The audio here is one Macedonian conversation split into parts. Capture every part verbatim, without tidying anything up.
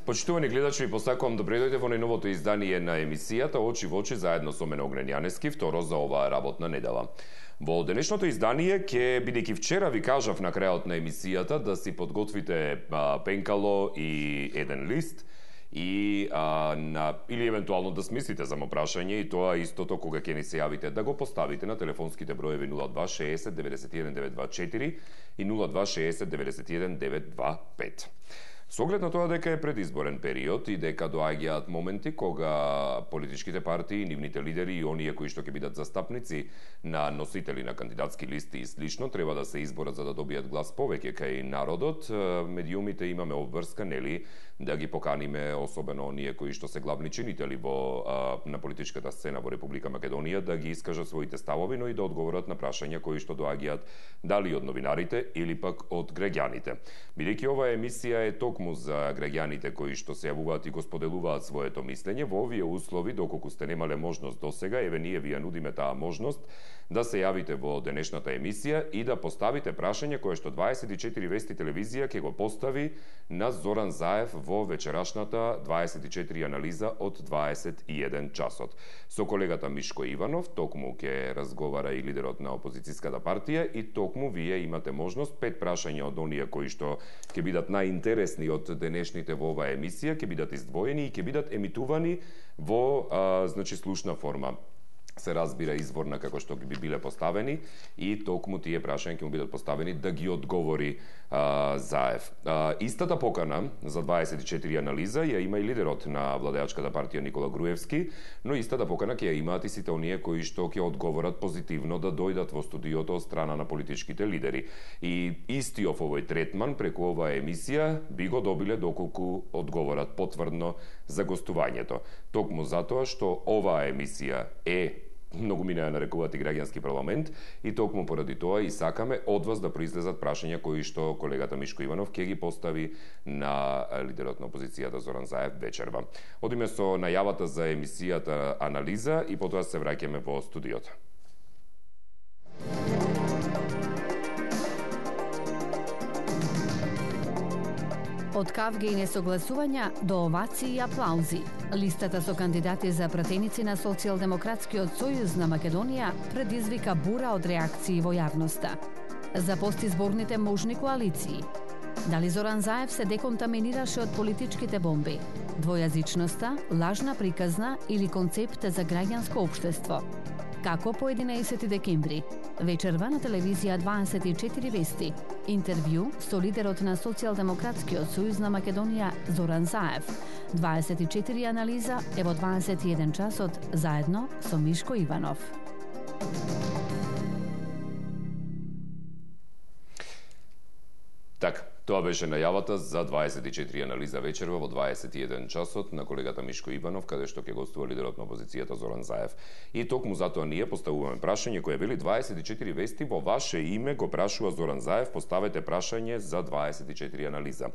Почитувани гледачи, ви посакувам да дојдете во најновото издание на емисијата Очи во очи заедно со мене Огнен Јанески, второ за оваа работна недела. Во денешното издание ќе, бидејќи вчера ви кажав на крајот на емисијата да си подготвите а, пенкало и еден лист и а, на, или евентуално да смислите за прашање и тоа истото кога ќе ни се јавите да го поставите на телефонските броеви нула два шеесет деветдесет и еден девет два четири и нула два шеесет деветдесет и еден девет два пет. Со оглед на тоа дека е предизборен период и дека доаѓаат моменти кога политичките партии, нивните лидери и оние кои што ќе бидат застапници на носители на кандидатски листи и слично треба да се изборат за да добијат глас повеќе кај народот. Медиумите имаме обврска, нели, да ги поканиме особено оние кои што се главни чинители во а, на политичката сцена во Република Македонија да ги искажат своите ставови, но и да одговорат на прашања кои што доаѓаат дали од новинарите или пак од граѓаните. Бидејќи оваа емисија е токму за граѓаните кои што се јавуваат и го споделуваат своето мислење, во овие услови, доколку сте немале можност досега, еве ние ви ја нудиме таа можност да се јавите во денешната емисија и да поставите прашање кое што дваесет и четири Вести телевизија ќе го постави на Зоран Заев во вечерашната дваесет и четири анализа од дваесет и еден часот. Со колегата Мишко Иванов токму ќе разговара и лидерот на опозицијската партија и токму вие имате можност пет прашања од оние кои што ќе бидат најинтересни од денешните во оваа емисија ќе бидат издвоени и ќе бидат емитувани во а, значи слушна форма. Се разбира изворна како што би биле поставени и токму тие прашања ќе му бидат поставени да ги одговори а, Заев. А, истата покана за дваесет и четири анализа ја има и лидерот на владеачката партија Никола Груевски, но истата покана ќе ја имаат и сите оние кои што ќе одговорат позитивно да дојдат во студиото од страна на политичките лидери. И истиот овој третман преку оваа емисија би го добиле доколку одговорат потврдно за гостувањето. Токму затоа што оваа емисија е многу минаа нарекуваат и граѓански парламент и токму поради тоа и сакаме од вас да произлезат прашања кои што колегата Мишко Иванов ќе ги постави на лидерот на опозицијата Зоран Заев вечерва. Одиме со најавата за емисијата анализа и потоа се враќаме во студиото. Од кавги и несогласувања до овации и аплаузи. Листата со кандидати за пратеници на Социјалдемократскиот сојуз на Македонија предизвика бура од реакции во јавноста. За постизборните можни коалиции. Дали Зоран Заев се деконтаминираше од политичките бомби? Двојазичноста, лажна приказна или концепт за граѓанско општество? Како по единаесети декември? Вечерва на телевизија дваесет и четири Вести. Интервју со лидерот на Социјалдемократскиот сојуз на Македонија Зоран Заев. дваесет и четири анализа е во дваесет и еден часот заедно со Мишко Иванов. Така, тоа беше најавата за дваесет и четири анализа вечерва во дваесет и еден часот на колегата Мишко Иванов, каде што ќе гостува лидерот на опозицијата Зоран Заев. И токму затоа ние поставуваме прашање кое вели дваесет и четири Вести во ваше име го прашува Зоран Заев, поставете прашање за дваесет и четири анализа.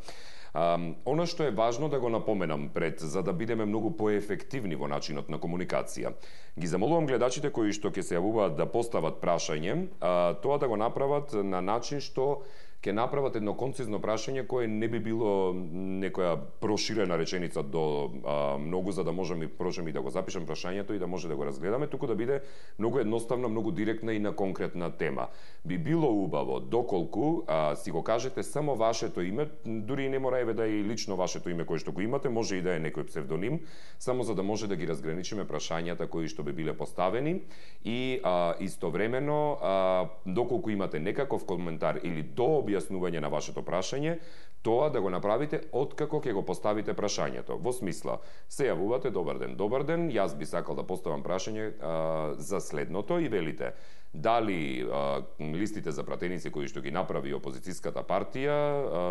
А, она што е важно да го напоменам пред, за да бидеме многу поефективни во начинот на комуникација. Ги замолувам гледачите кои што ќе се јавуваат да постават прашање, а, тоа да го направат на начин што ќе направат едно концизно прашање кое не би било некоја проширена реченица до а, многу за да можеме прожеме и да го запишем прашањето и да може да го разгледаме, туку да биде многу едноставна, многу директна и на конкретна тема. Би било убаво доколку а, си го кажете само вашето име, дури и не мора еве да е лично вашето име кое што го имате, може и да е некој псевдоним, само за да може да ги разграничиме прашањата кои што би биле поставени и а, истовремено а, доколку имате некаков коментар или до објаснување на вашето прашање, тоа да го направите откако ќе го поставите прашањето. Во смисла, се јавувате добар ден, добар ден, јас би сакал да поставам прашање а, за следното и велите Дали а, листите за пратеници кои што ги направи опозицијската партија а,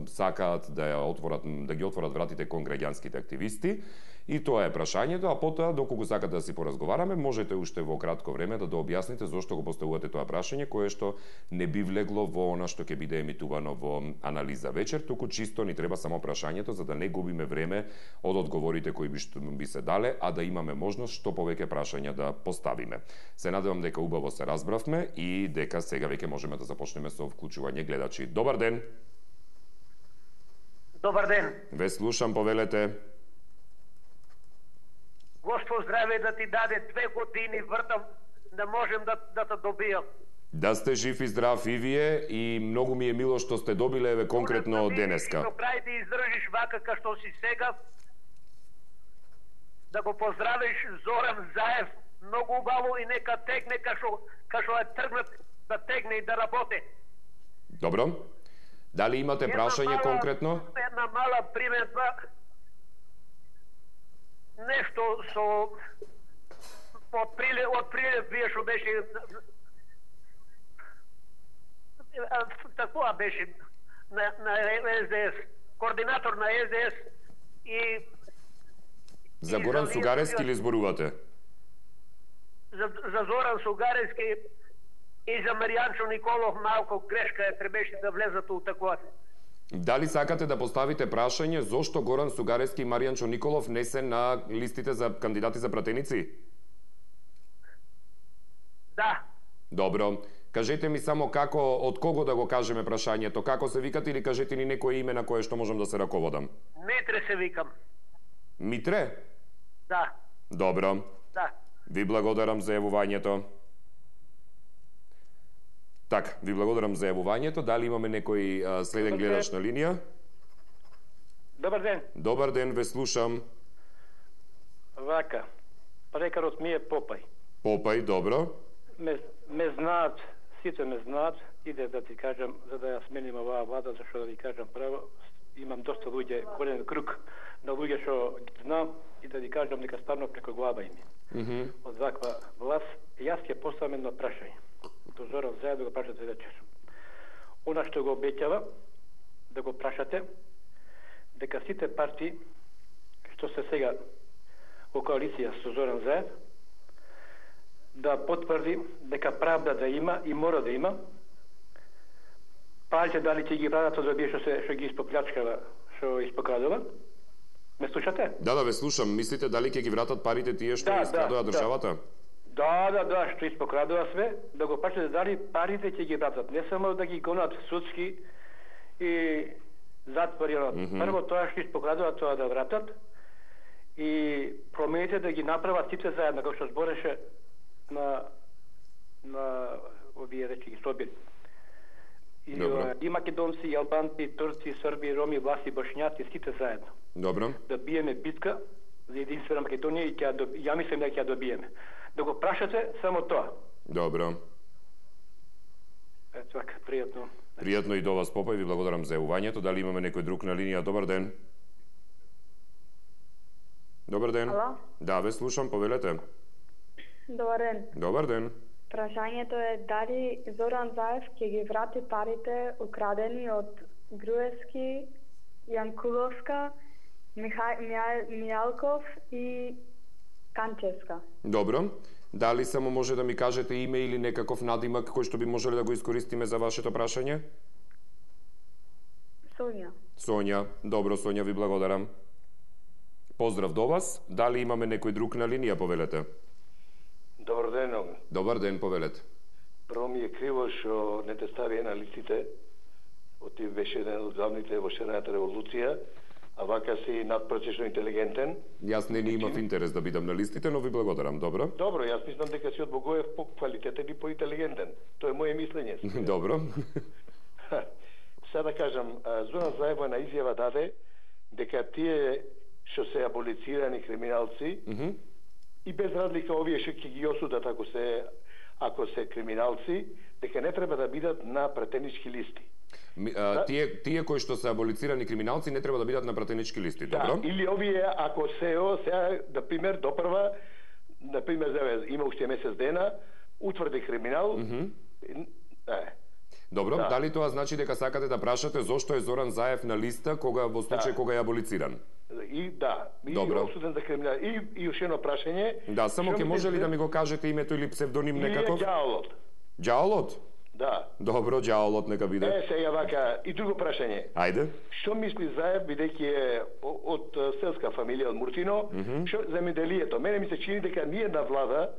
сакаат да ја отворат, да ги отворат вратите кон граѓанските активисти, и тоа е прашањето, а потоа доколку сакате да си поразговараме, можете уште во кратко време да дообјасните зошто го поставувате тоа прашање кое што не би влегло во она што ќе биде емитувано во анализа вечер, туку чисто ни треба само прашањето за да не губиме време од одговорите кои би, што, би се дале, а да имаме можност што повеќе прашања да поставиме. Се надевам дека убаво се разбравме и дека сега веќе можеме да започнеме со вклучување гледачи. Добар ден. Добар ден. Ве слушам, повелете. Господ здраве да ти даде, две години вртам да можем да да те добијам. Да сте жив и здрав и вие, и многу ми е мило што сте добиле еве конкретно од денеска. До крај да издржиш вака ка што си сега. Да го поздравиш Зоран Заев, многу убаво и нека тегне ка што ка што е тргнат да тегне и да работи. Добро. Дали имате Една прашање мала, конкретно? Една мала приметба. Нешто со од приле од приле вие што беше такова беше на на С Д С, координатор на С Д С и За и Горан за- Сугарески ли зборувате? за, за Зоран Сугарески и за Маријанчо Николов малку грешка е, требеше да влезат у такова. Дали сакате да поставите прашање зошто Горан Сугарески и Маријанчо Николов не се на листите за кандидати за пратеници? Да, Добро. Кажете ми само како, од кого да го кажеме прашањето, како се викат, или кажете ни некое име на кое што можам да се раководам. Митре се викам. Митре? Да, Добро. да. Ви благодарам за јавувањето. Така, ви благодарам за јавувањето. Дали имаме некој а, следен Добар гледач на линија? Добар ден. Добар ден, ве слушам. Вака. Прекарот ми е Попај. Попај, добро. Ме, ме знаат, сите ме знаат, иде да ти кажам, за да ја сменим оваа влада, зашто да ви кажам право, имам доста луѓе, голем круг на луѓе што ги знам и да ви кажам дека ставно преко глава им. Mm -hmm. Од ваква власт, јас ќе поставам едно прашање. До Зоран Заев да го прашате вечер. Она што го обеќава, да го прашате, дека сите партии што се сега во коалиција со Зоран Заев, да потврди дека правда да има и мора да има. Парите дали ќе ги вратат од овие што се што ги испоплячкава, што испокрадува. Ме слушате? Да, да, ве слушам. Мислите дали ќе ги вратат парите тие што Да, ги искрадува да, државата? Да, да, да, што испокрадува све, да го прашате дали парите ќе ги вратат. Не само да ги гонат судски и затвори. Mm -hmm. Прво тоа што испокрадува, тоа да вратат и промените да ги направат сите заедно, како што збореше на на овие речи ги собери. И, Добро. и македонци, и албанци, и турци, и срби, и роми, власти, бошњаци, сите заедно. Добро. Да биеме битка за единствена Македонија и ќе ја, ја мислам дека ќе ја добиеме. Да го прашате само тоа. Добро. Ето така, пријатно. Пријатно и до вас, Попај, ви благодарам за јавувањето. Дали имаме некој друг на линија? Добар ден. Добар ден. Ало? Да, ве слушам, повелете. Добар ден. Добар ден. Прашањето е дали Зоран Заев ќе ги врати парите украдени од Груевски, Јанкуловска, Миха... Мија... Мијалков и Канчевска. Добро. Дали само може да ми кажете име или некаков надимак кој што би можеле да го искористиме за вашето прашање? Сонја. Сонја. Добро, Сонја, ви благодарам. Поздрав до вас. Дали имаме некој друг на линија, повелете? Добар ден, Огн. Добар ден, повелете. Прво ми е криво што не те стави на листите. Оти беше еден од главните во шерената револуција, а вака си надпроцечно интелигентен. Јас не ни имав интерес да бидам на листите, но ви благодарам, добро? Добро, јас мислам дека си од Богоев по-квалитетен и по-интелигентен. Тоа е моје мислење. Добро. Сега да кажам, Зоран Заев на изјава даде дека тие што се аболицирани криминалци Mm -hmm. и без разлика овие што ќе ги осудат ако се ако се криминалци, дека не треба да бидат на пратенички листи. Ми, а, да. Тие, тие кои што се аболицирани криминалци не треба да бидат на пратенички листи, Да, добро? или овие, ако се о, сега, на пример, допрва, на пример, има уште месец дена, утврди криминал. Mm -hmm. е. Добро, Да. дали тоа значи дека сакате да прашате зошто е Зоран Заев на листа кога во случај Да. кога е аболициран? И да, и Добро. осуден за криминал. И и уште едно прашање. Да, само ќе може ли да ми го кажете името или псевдоним некаков? Илија Ѓаолот. Ѓаолот? Да. Добро, Ѓаолот нека биде. Е, сега вака, и друго прашање. Ајде. Што мисли Заев, бидејќи е о- од е, селска фамилија, од Муртино, што земјоделието? Мене ми се чини дека ниедна влада,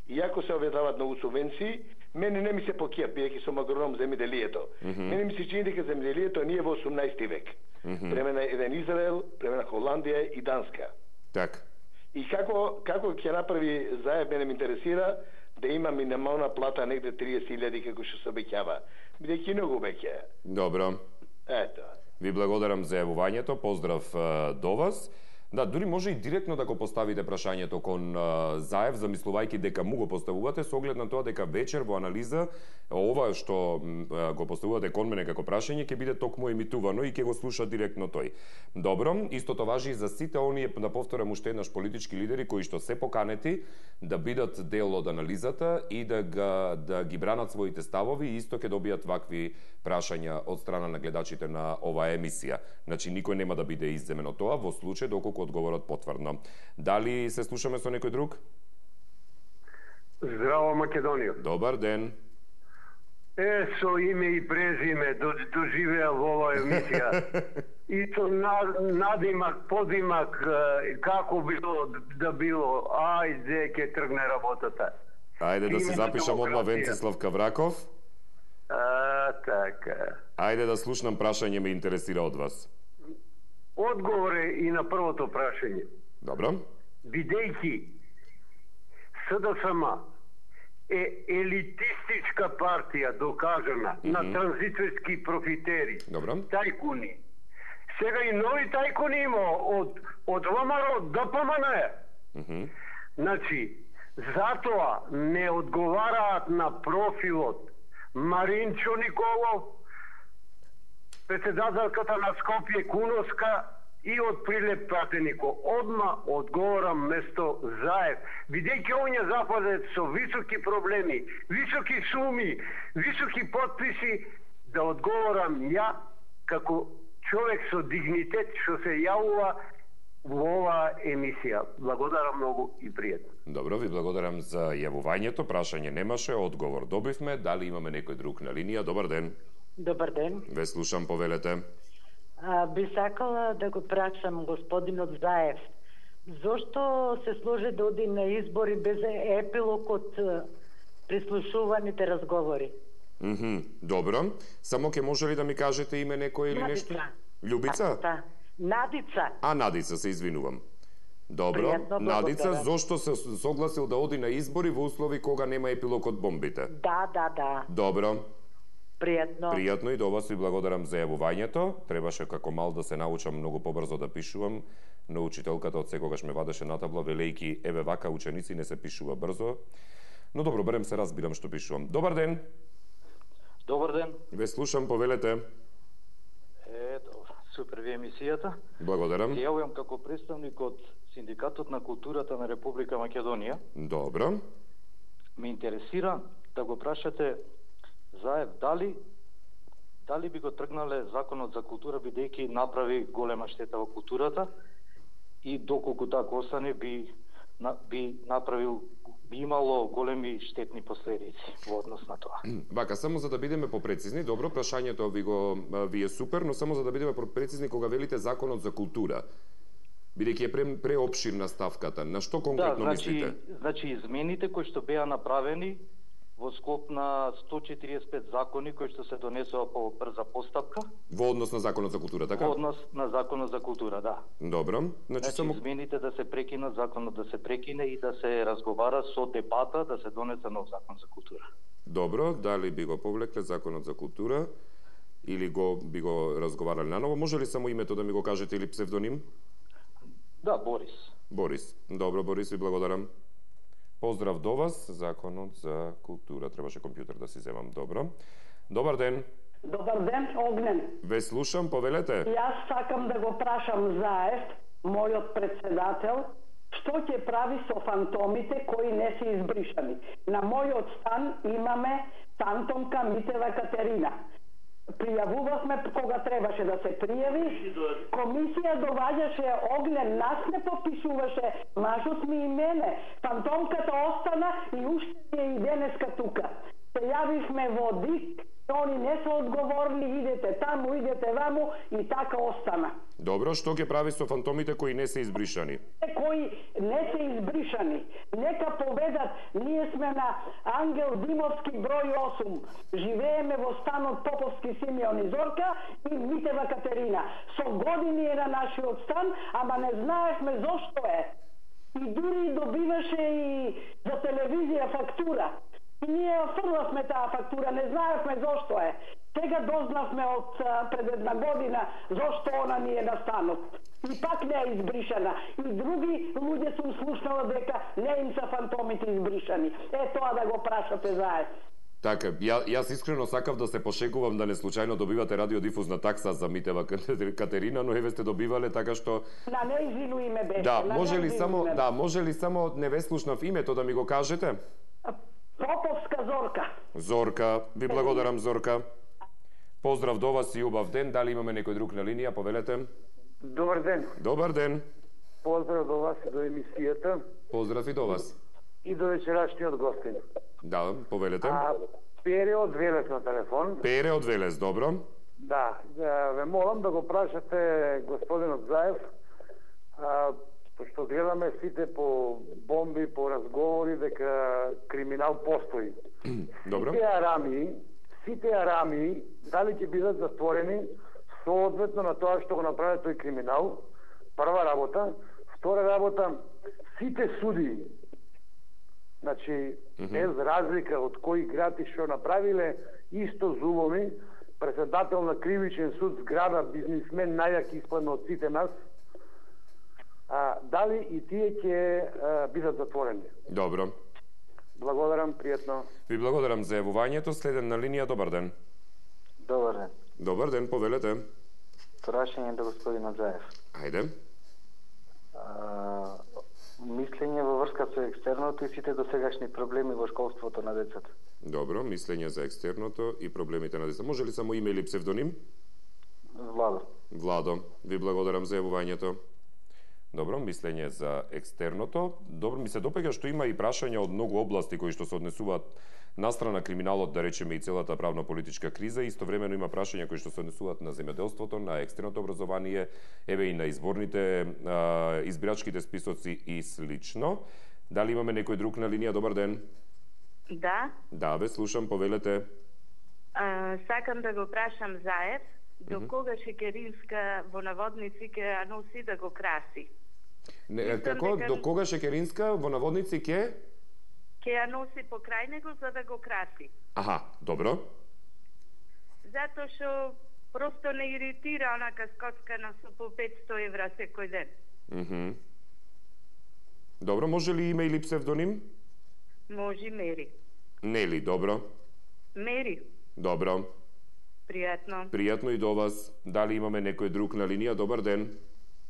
иако се објавуваат многу субвенции, мене не ми се покија, бидејќи сум агроном земјоделието. Мене ми се чини дека земјоделието ние во осумнаесети век. Време на еден Израел, време на Холандија и Данска. Так. И како како ќе направи Заев, мене ме интересира да има минимална плата негде триесет илјади како што се обеќава. Бидејќи многу веќе. Добро. Ето. Ви благодарам за јавувањето, поздрав а, до вас. Да, дури може и директно да го поставите прашањето кон а, Заев, замислувајќи дека му го поставувате, со оглед на тоа дека вечер во анализа ова што а, го поставувате кон мене како прашање ќе биде токму емитувано и ќе го слуша директно тој. Добро, истото важи и за сите оние, да повторам уште еднаш, политички лидери кои што се поканети да бидат дел од анализата и да, га, да ги бранат своите ставови и исто ќе добијат вакви прашања од страна на гледачите на оваа емисија. Значи, никој нема да биде изземен од тоа во случај доколку одговорот потврдно. Дали се слушаме со некој друг? Здраво, Македонија. Добар ден. Е, со име и презиме до, доживеа во оваа емисија. И со на, надимак, подимак, е, како било да било, ајде ќе тргне работата. Ајде да се Име запишам одма демократија. Венцислав Кавраков. А, така. Ајде да слушнам прашање, ме интересира од вас. Одговор е и на првото прашање. Добро. Бидејќи СДСМ е елитистичка партија докажана mm -hmm. на транзиторски профитери, Добро. тајкуни. Сега и нови тајкуни има од од ВМРО до Д П М Н. Mm -hmm. Значи, затоа не одговараат на профилот Маринчо Николов, председателката на Скопје Куновска и од Прилеп Пратенико. Одма одговорам место Заев. Бидејќи оние западет со високи проблеми, високи суми, високи подписи, да одговорам ја како човек со дигнитет што се јавува во оваа емисија. Благодарам многу и пријатно. Добро, ви благодарам за јавувањето. Прашање немаше, одговор добивме. Дали имаме некој друг на линија? Добар ден. Добар ден. Ве слушам, повелете. А, би сакала да го прашам господинот Заев. Зошто се сложи да оди на избори без епилог од е, прислушуваните разговори? Мхм, добро. Само ќе може ли да ми кажете име некој или нешто? Надица. Љубица? Да. Надица. А, Надица, се извинувам. Добро. Пријатно, Надица, благодарам. зошто се согласил да оди на избори во услови кога нема епилог од бомбите? Да, да, да. Добро. Пријатно. Пријатно и до вас ви благодарам за јавувањето. Требаше како мал да се научам многу побрзо да пишувам, но учителката од секогаш ме вадеше на табла велејки еве вака ученици не се пишува брзо. Но добро, барем се разбирам што пишувам. Добар ден. Добар ден. Ве слушам, повелете. Е, добро. Супер ви емисијата. Благодарам. Се јавувам како представник од Синдикатот на културата на Република Македонија. Добро. Ме интересира да го прашате Заев дали дали би го тргнале законот за култура бидејќи направи голема штета во културата и доколку така остане би на, би направил би имало големи штетни последици во однос на тоа. Вака, само за да бидеме попрецизни, добро, прашањето ви го ви е супер, но само за да бидеме попрецизни кога велите законот за култура, бидејќи е пре, преопширна ставката, на што конкретно да, значи, мислите? Значи, измените кои што беа направени во склоп на сто четириесет и пет закони кои што се донесува по брза постапка. Во однос на законот за култура, така? Во однос на законот за култура, да. Добро. Значи, Значи, само измените да се прекинат, законот да се прекине и да се разговара со дебата да се донесе нов закон за култура. Добро, дали би го повлекле законот за култура или го би го разговарале наново? Може ли само името да ми го кажете или псевдоним? Да, Борис. Борис. Добро, Борис, ви благодарам. Поздрав до вас, законот за култура. Требаше компјутер да си земам. Добро. Добар ден. Добар ден, Огнен. Ве слушам, повелете. Јас сакам да го прашам Заев, мојот председател, што ќе прави со фантомите кои не се избришани. На мојот стан имаме фантомка Митева Катерина. Пријавувавме кога требаше да се пријави. Комисија доваѓаше Огнен, нас не попишуваше, мажот ми и мене. Фантомката остана и уште е и денеска тука. Се јавивме во ДИК, они не се одговорни, идете таму, идете ваму и така остана. Добро, што ќе прави со фантомите кои не се избришани? Кои не се избришани, нека поведат, ние сме на Ангел Димовски број осум. Живееме во станот Поповски Симеон и Зорка и Митева Катерина. Со години е на нашиот стан, ама не знаевме зошто е. И дури добиваше и за телевизија фактура. И ние фрлавме таа фактура, не знаевме зошто е. Сега дознавме од пред една година зошто она ни е на станот. И пак не е избришана. И други луѓе сум слушнала дека не им са фантомите избришани. Е тоа да го прашате заедно. Така, ја, јас искрено сакав да се пошегувам да не случајно добивате радиодифузна такса за Митева Катерина, но еве сте добивале така што на нејзино име беше. Да, може ли само, име. да, може ли само не ве слушнав името да ми го кажете? Поповска Зорка. Зорка, ви благодарам Зорка. Поздрав до вас и убав ден. Дали имаме некој друг на линија? Повелете. Добар ден. Добар ден. Поздрав до вас и до емисијата. Поздрав и до вас. И до вечерашниот гостин. Да, повелете. А, Пере од Велес на телефон. Пере од Велес, добро. Да, да ве молам да го прашате господинот Заев, а, што гледаме сите по бомби, по разговори дека криминал постои. Добро. Сите арами, сите арами, дали ќе бидат затворени соодветно на тоа што го направи тој криминал? Прва работа. Втора работа, сите суди, значи, mm -hmm. без разлика од кој град и што направиле, исто зубови, председател на кривичен суд, зграда, бизнисмен, најак испадна од сите нас, а, дали и тие ќе бидат затворени? Добро. Благодарам, пријатно. Ви благодарам за јавувањето. Следен на линија, добар ден. Добар ден. Добар ден, повелете. Прашање до господинот Заев. Ајде. А, мислење во врска со екстерното и сите досегашни проблеми во школството на децата. Добро, мислење за екстерното и проблемите на децата. Може ли само име или псевдоним? Владо. Владо, ви благодарам за јавувањето. Добро, мислење за екстерното. Добро, ми се допега што има и прашања од многу области кои што се однесуваат настрана криминалот, да речеме и целата правно-политичка криза. Истовремено има прашања кои што се однесуваат на земјоделството, на екстерното образование, еве и на изборните, а, избирачките списоци и слично. Дали имаме некој друг на линија? Добар ден. Да. Да, ве слушам, повелете. А, сакам да го прашам Заев, до кога Шекеринска во наводници ќе ја носи да го краси? Не, како, дека... до кога Шекеринска во наводници ќе? Ќе ја носи покрај него за да го краси. Аха, добро. Затоа што просто не иритира онака скоцкана со по петсто евра секој ден. Мхм. Добро, може ли име или псевдоним? Може Мери. Нели, добро. Мери. Добро. Пријатно. Пријатно и до вас. Дали имаме некој друг на линија? Добар ден.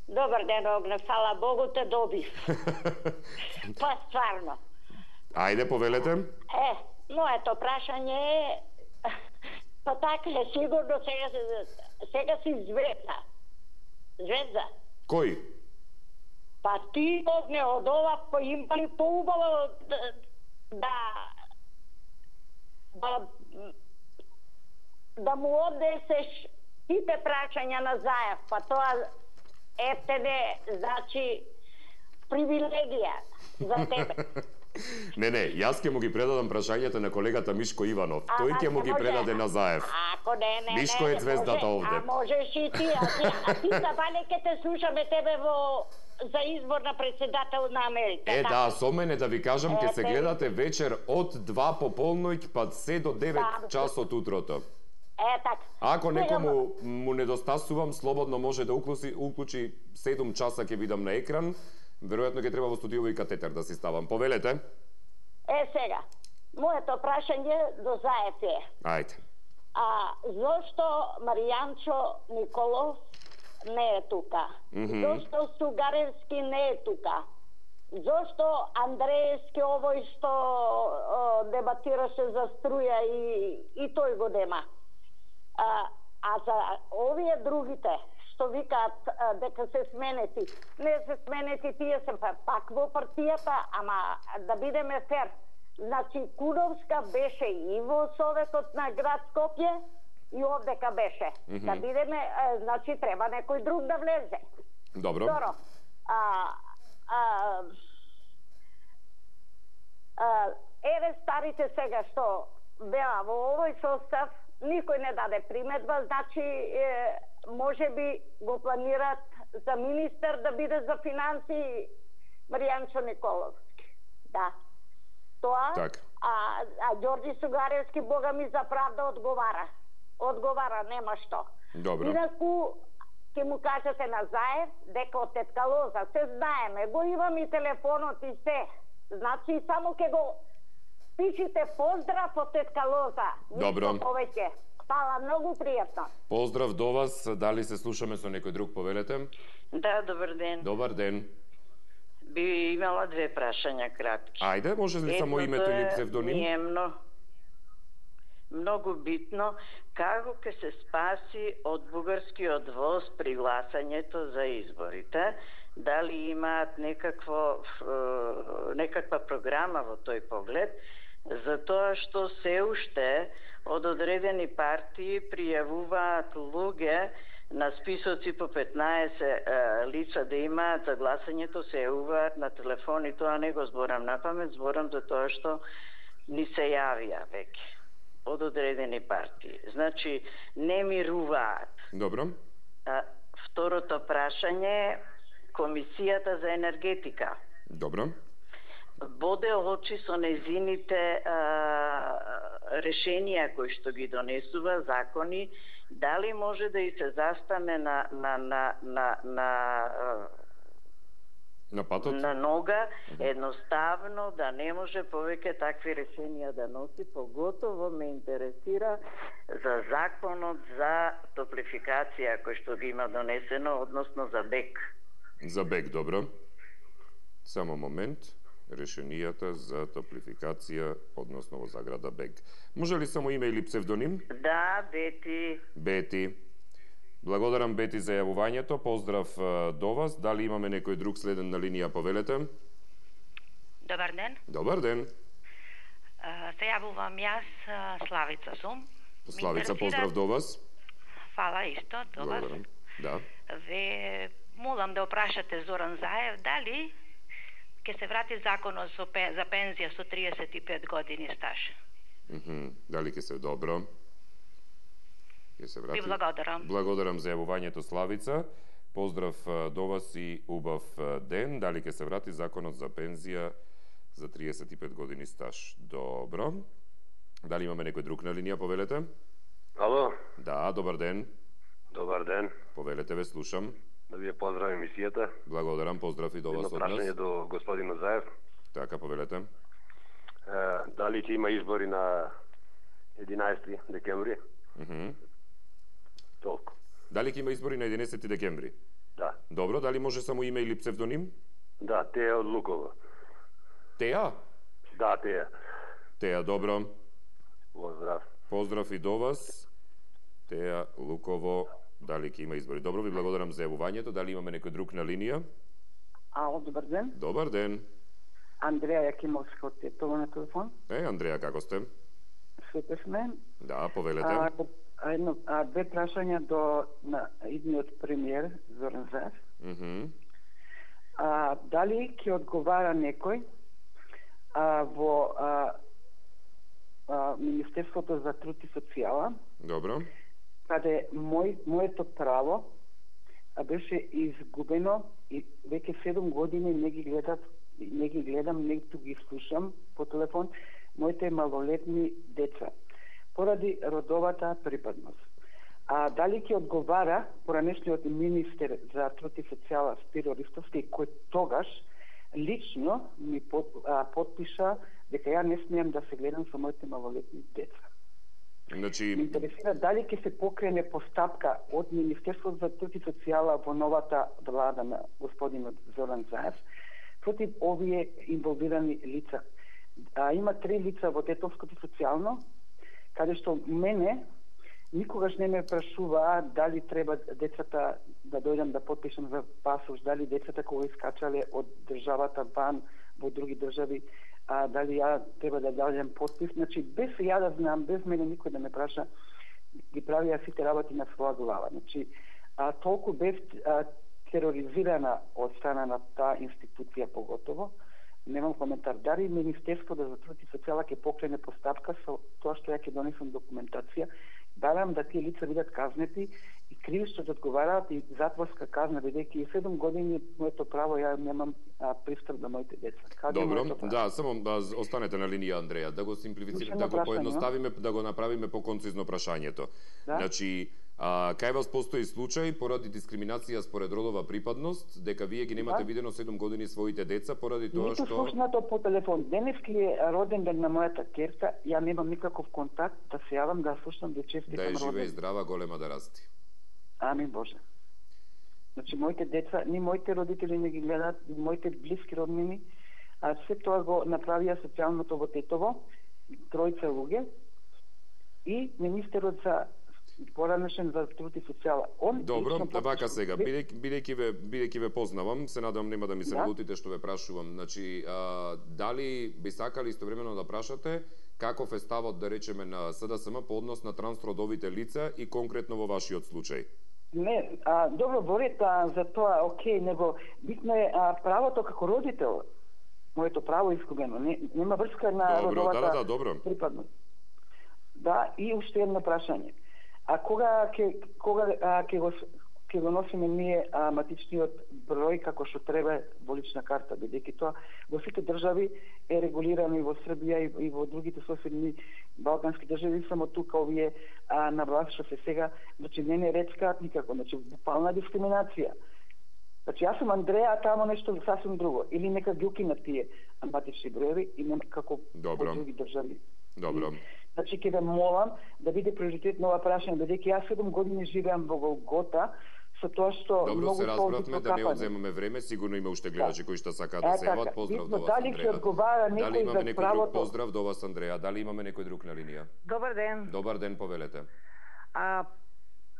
Добар ден, Огне. Фала Богу те добив. Па стварно. Ајде, повелете. Е, моето прашање е, па така е сигурно сега, сега си звезда. Звезда. Кој? Па ти, Огне, од ова има ли поубаво да, да, да, да му однесеш сите прашања на Заев, па тоа ефтене, значи, привилегија за тебе. Не, не, јас ќе му ги предадам прашањата на колегата Мишко Иванов. А, Тој ќе му ги предаде на Заев. Ако не, не, Мишко не, е звездата може, овде. А можеш и ти, а ти, а ти забале ке те слушаме тебе во за избор на председател на Америка. Е, така? да, со мене да ви кажам, ќе се гледате вечер од два пополноќ па се до девет да, часот утрото. Е, така. Ако некому му недостасувам, слободно може да уклучи, уклучи седум часа ќе видам на екран. Веројатно ќе треба во студио и катетер да си ставам. Повелете. Е, сега, моето прашање до Заев е. Ајде. А зошто Маријанчо Николов не е тука? Mm -hmm. Зошто Сугаревски не е тука? Зошто Андреевски овој што о, дебатираше за струја и, и тој го дема. А, а за овие другите што викаат а, дека се сменети, не се сменети, тие се пак во партијата, ама да бидеме фер. Значи Куновска беше и во Советот на град Скопје и овдека беше. Mm -hmm. Да бидеме, а, значи треба некој друг да влезе. Добро. Второ, а, а, а, еве старите сега што беа во овој состав, никој не даде приметба, значи е, може би го планират за министер да биде за финансии Маријанчо Николовски. Да. Тоа, так. а, а Ѓорѓи Сугаревски, бога ми, за правда одговара. Одговара, нема што. Добро. Инаку, ќе му кажете на Заев дека од тетка Лоза се знаеме, го имам и телефонот и се. Значи само ќе го пишите поздрав од тетка Лоза. Добро. Повеќе. Фала, многу пријатно. Поздрав до вас. Дали се слушаме со некој друг, повелете? Да, добар ден. Добар ден. Би имала две прашања кратки. Ајде, може ли само името или псевдоним? Едното е много, многу битно, како ќе се спаси од бугарскиот воз при гласањето за изборите? Дали имаат некакво, некаква програма во тој поглед? Затоа што се уште од одредени партии пријавуваат луѓе на списоци по петнаесет е, лица да имаат за гласањето, се јавуваат на телефони. Тоа не го зборам на памет, зборам за тоа што ни се јавија веќе од одредени партии. Значи, не мируваат. Добро. А, второто прашање е Комисијата за енергетика. Добро. Боде очи со незините а, решенија кои што ги донесува, закони, дали може да и се застане на на на на на на патот, на нога, едноставно да не може повеќе такви решенија да носи, поготово ме интересира за законот за топлификација кој што ги има донесено, односно за БЕК. За БЕК, добро. Само момент. Решенијата за топлификација, односно во заграда БЕК. Може ли само име или псевдоним? Да, Бети. Бети. Благодарам, Бети, за јавувањето. Поздрав до вас. Дали имаме некој друг следен на линија, повелете? Добар ден. Добар ден. Се јавувам јас, Славица сум. Славица, поздрав до вас. Фала исто, до вас. Благодарам. Да. Ве молам да опрашате Зоран Заев, дали ќе се врати законот за пензија со триесет и пет години стаж. Mm -hmm. Дали ќе се добро? Ќе се врати. Ви благодарам. Благодарам за јавувањето, Славица. Поздрав до вас и убав ден. Дали ќе се врати законот за пензија за триесет и пет години стаж? Добро. Дали имаме некој друг на линија, повелете? Ало? Да, добар ден. Добар ден. Повелете, ве слушам. Да ви поздравам емисијата. Благодарам, поздрав и до вас од нас. Едно прашање до господинот Заев. Така, повелете. Е, дали ќе има избори на единаесети декември? Mm -hmm. Толку. Дали ќе има избори на единаесети декември? Да. Добро, дали може само име или псевдоним? Да, Теја од Луково. Теја? Да, Теја. Теја, добро. Поздрав. Поздрав и до вас. Теја, Луково. Дали ќе има избори? Добро, ви благодарам за јавувањето. Дали имаме некој друг на линија? Ало, добар ден. Добар ден. Андреја Јакимовска од Тетово на телефон. Е, Андреја, како сте? Супер сме. Да, повелете. А, а, едно, а, две прашања до на идниот премиер Зоран Заев. Mm -hmm. А, дали ќе одговара некој а, во а, а, Министерството за труд и социјала? Добро. Каде мој, моето право а беше изгубено и веќе седум години не ги гледам, не ги гледам, ниту ги слушам по телефон моите малолетни деца поради родовата припадност. А дали ќе одговара поранешниот министер за труд и социјала Спиро Ристовски, кој тогаш лично ми под, а, подпиша дека ја не смеам да се гледам со моите малолетни деца. Значи... Ме интересира дали ќе се покрене постапка од Министерството за труд и социјала во новата влада на господинот Зоран Заев, против овие инволвирани лица. А, има три лица во детовското социјално, каде што мене никогаш не ме прашува дали треба децата да дојдам да потпишам за пасош, дали децата кога искачале од државата ван во други држави, а, дали ја треба да дадем потпис. Значи, без ја да знам, без мене никој да ме праша, ги правија сите работи на своја глава. Значи, а, толку бев а, тероризирана од страна на таа институција поготово, немам коментар. Дали Министерството за труд и социјала ќе покрене постапка со тоа што ја ќе донесам документација, барам да тие лица бидат казнети и кривично да одговараат и затворска казна, бидејќи и седум години моето право, ја немам а, пристап на моите деца. Каде Добро, да, само да останете на линија, Андреја, да го симплифицираме, да го поедноставиме, да го направиме поконцизно прашањето. Да? Значи, а, кај вас постои случај поради дискриминација според родова припадност, дека вие ги немате да? видено седум години своите деца поради тоа што... Ниту слушнато по телефон. Денески е роден ден на мојата керка, ја немам никаков контакт да се јавам да слушнам да честитам роден. Да е живе и роден. здрава, голема да расти. Амин Боже. Значи, моите деца, ни моите родители не ги гледат, ни моите блиски роднини, а се тоа го направија социјалното во Тетово, тројца луѓе, и министерот за поранешен за труд и социјала. Он Добро, вака сега, бидејќи бидејќи ве бидејќи ве познавам, се надам нема да ми се налутите што ве прашувам. Значи, а, дали би сакали истовремено да прашате каков е ставот, да речеме, на С Д С М по однос на трансродовите лица и конкретно во вашиот случај? Не, а, добро, борите за тоа, окей, него битно е а, правото како родител, моето право искугено, не, нема врска на добро, родовата да, да, добро. припадност. Да, и уште едно прашање. А кога ќе кога а, ќе го ќе го носиме ние а, матичниот број како што треба во лична карта, бидејќи тоа во сите држави е регулирано и во Србија и, и во другите соседни балкански држави, само тука овие а, на власт што се сега, значи не не речкаат никако, значи буквална дискриминација. Значи јас сум Андреја, а тамо нешто сасвим друго, или нека ги укинат тие матични броеви и нема како во други држави. Добро. Значи, ќе ве молам да биде приоритет на ова прашање, бидејќи јас седум години живеам во Голгота, со тоа што Добро, многу се разбравме, да не одземаме време, сигурно има уште гледачи кои што сакаат да се јават. Поздрав до вас, дали ќе одговара Андреја. Дали некој имаме за некој правото? друг поздрав до вас, Андреја? Дали имаме некој друг на линија? Добар ден. Добар ден, повелете. А,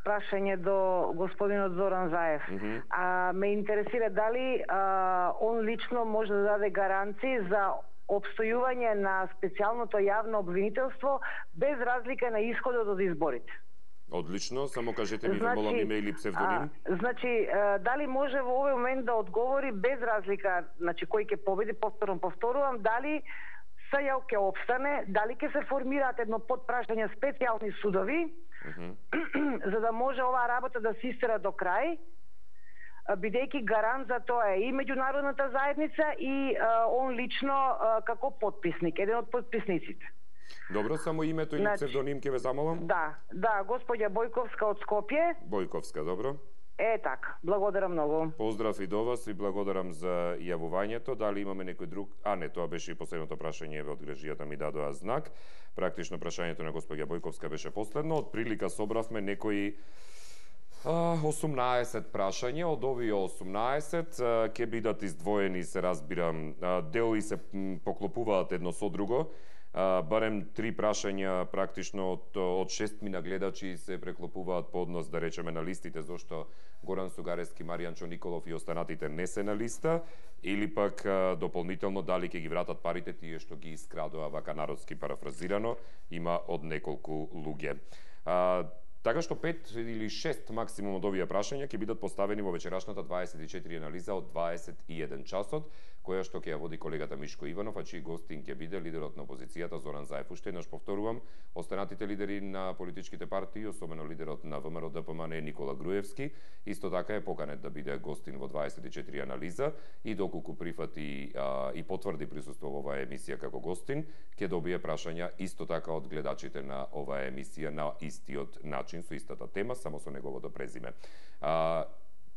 прашање до господинот Зоран Заев. Mm -hmm. А, ме интересира дали а, он лично може да даде гаранции за обстојување на специјалното јавно обвинителство без разлика на исходот од изборите. Одлично, само кажете ми, значи, молам, име или псевдоним. А, значи, а, дали може во овој момент да одговори без разлика, значи кој ќе победи, повторно повторувам, дали СЈ ќе обстане, дали ќе се формираат едно подпрашање специјални судови, uh -huh. за да може оваа работа да се истера до крај, бидејќи гарант за тоа е и меѓународната заедница и а, он лично а, како подписник, еден од подписниците. Добро, само името или значи, псевдоним ќе ве замолам? Да, да, господја Бојковска од Скопје. Бојковска, добро. Е, така, благодарам многу. Поздрав и до вас и благодарам за јавувањето. Дали имаме некој друг? А, не, тоа беше и последното прашање, од грежијата ми дадоа знак. Практично прашањето на господја Бојковска беше последно. Од прилика собравме некои осумнаесет прашања, од овие осумнаесет ќе бидат издвоени, се разбирам, дели се поклопуваат едно со друго. Uh, барем три прашања практично од, од шестмина гледачи се преклопуваат по однос, да речеме, на листите, зашто Горан Сугарески, Маријанчо Николов и останатите не се на листа, или пак uh, дополнително дали ќе ги вратат парите тие што ги искрадоа, вака народски парафразирано, има од неколку луѓе. Uh, Така што пет или шест максимум од овие прашања ќе бидат поставени во вечерашната дваесет и четири анализа од дваесет и еден часот, која што ќе ја води колегата Мишко Иванов, а чиј гостин ќе биде лидерот на опозицијата Зоран Заев. Уште еднаш повторувам, останатите лидери на политичките партии, особено лидерот на ВМРО Д П М Н Никола Груевски, исто така е поканет да биде гостин во дваесет и четири анализа и доколку прифати а, и потврди присуство во оваа емисија како гостин, ќе добие прашања исто така од гледачите на оваа емисија на истиот начин, со истата тема, само со неговото презиме. А,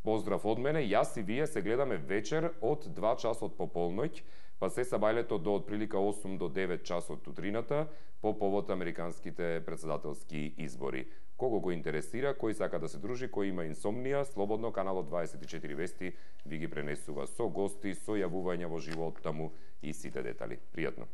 поздрав од мене, јас и вие се гледаме вечер од два часот по полноќ, па се сабајлето до отприлика осум до девет часот утрината по повод американските председателски избори. Кого го интересира, кој сака да се дружи, кој има инсомнија, слободно каналот дваесет и четири Вести ви ги пренесува со гости, со јавувања во живо од таму и сите детали. Пријатно.